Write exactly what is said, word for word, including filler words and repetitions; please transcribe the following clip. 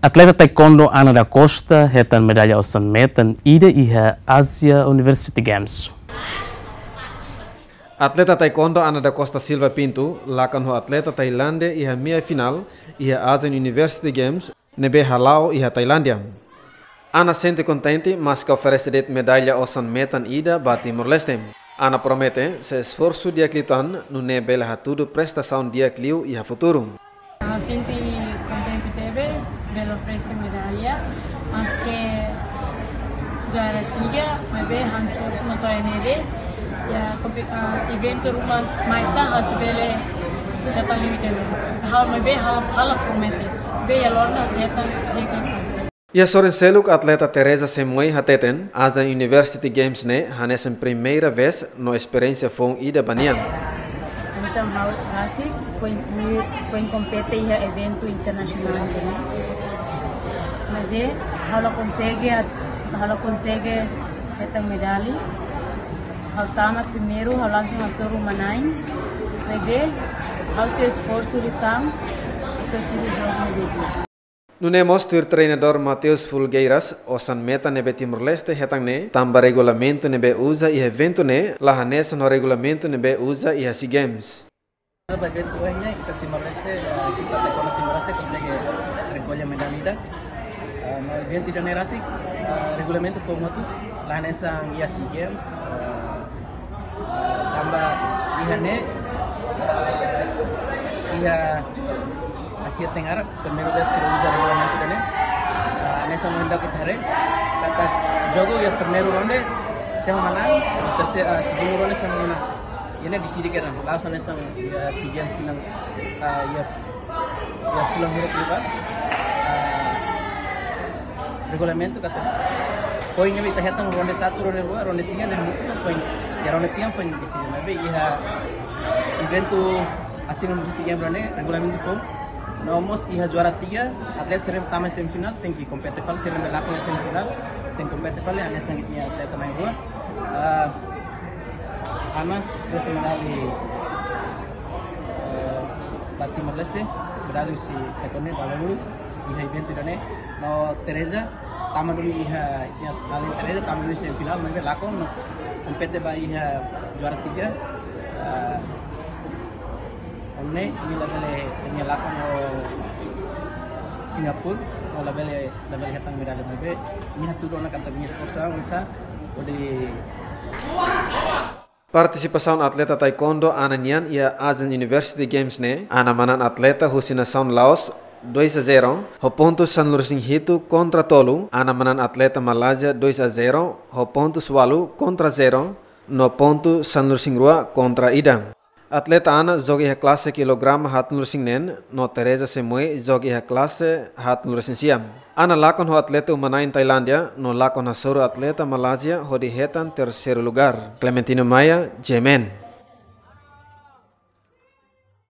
Atleta taekwondo Ana da Costa hetan medalla osan-metan ida iha Asia University Games. Atleta taekwondo Ana da Costa Silva Pinto lakon ho atleta Tailándia iha meia final iha Asian University Games ne'ebé hala'o iha Tailándia. Ana sente kontente, maske oferese de'it medalla osan-metan ida ba Timor-Leste. Ana promete sei esforsu di'ak liután, nune'e bele hatudu prestasaun di'ak liu iha futuru. Ha'u sente kontente tebes, bele oferese medalla, maske juara tiga, maibé ha'u esforsu no to'o iha ne'e de'it, iha kompe-, ah, eventu ruma mai tan, ha'u sei bele hetan liu ida-ne'e. Ha'u maibé ha'u, ha'u la promete, maibé iha loron ne'e ha'u sei hetan di'ak liu. Iha sorin seluk atleta Teresa Semoe hateten, Asian University Games ne'e hanesan primeira vez no esperiénsia foun ida ba nia. Hanesan ha'u rasik foin, foin kompete iha eventu internasionál ne'e. Maibé ha'u la konsege, ha'u la konsege hetan medalla. Ha'u tama primeiru, ha'u langsung hasoru uma-na'in. Maibé ha'u sei esforsu liután, atu tuir jogu ne'ebé. Nune'e mós tuir treinadór Mateus Folgueiras, osan-metan ne'ebé Timor-Leste hetan ne'e tanba regulamentu ne'ebé uza iha eventu ne'e la hanesan ho regulamentu ne'ebé uza iha SEA Games. Ba eventu ohin ne'e, ita Timor-Leste, eh, ekipa taekwondo Timor-Leste konsege rekolla medalla ida. Eh, no eventu ida-ne'e rasik, eh, regulamentu foun hotu, la hanesan iha SEA Games, eh, eh, tanba iha ne'e, eh, iha Asia Tenggara, primeira vez sira uza regulamentu ida-ne'e. Ah, hanesan ohin daudauk ita haree, katak jogu iha primeiru ronde, sé mak manán, iha terseiru, ah, segundu ronde sé mak manán. Iha ne'e deside kedan, la'ós hanesan iha SEA Games tinan, ah, iha, iha fulan hirak liubá. Ah, regulamentu katak foin ne'ebé ita hetan ronde satu, ronde rua, ronde tiga, ne'e hamutuk foin. Iha ronde tiga foin deside, maibé iha eventu Asian University Games ne'e regulamentu foun. No mós iha juara tiga, atleta sira tama semifinál, tenke kompete fali, sira ne'ebé lakon semifinál, tenke kompete fali, hanesan ita-nia atleta na'in-rua. Ah, Ana, terus medalla, eh, ba Timor-Leste, medalla husi taekwondo, ba lulu, iha eventu ida-ne'e. No Teresa, tama duni iha, iha alin Teresa, tama duni semifinál, maibé lakon, no kompete ba iha juara tiga. Ah, Ohin ne'e, nia labele, nia lakon ho Singapura, no labele, labele hetan medalla maibé, nia hatudu ona katak nia esforsu oinsá, hodi. Partisipasaun atleta taekwondo Ana nian iha Asian University Games ne'e, Ana manán atleta husi nasaun Laos dois a zero, ho pontu sanulu-resin-hitu kontra tolu, Ana manán atleta Malázia dois a zero, ho pontu ualu kontra zero, no pontu sanulu-resin-rua kontra ida. Atleta Ana joga iha klase kilograma haatnulu-resin-neen, no Teresa Semoe joga iha klase haatnulu-resin-sia. Ana lakon ho atleta uma-na'in Tailándia, no lakon hasoru atleta Malázia hodi hetan terseiru lugár. Clementino Maia, G M N.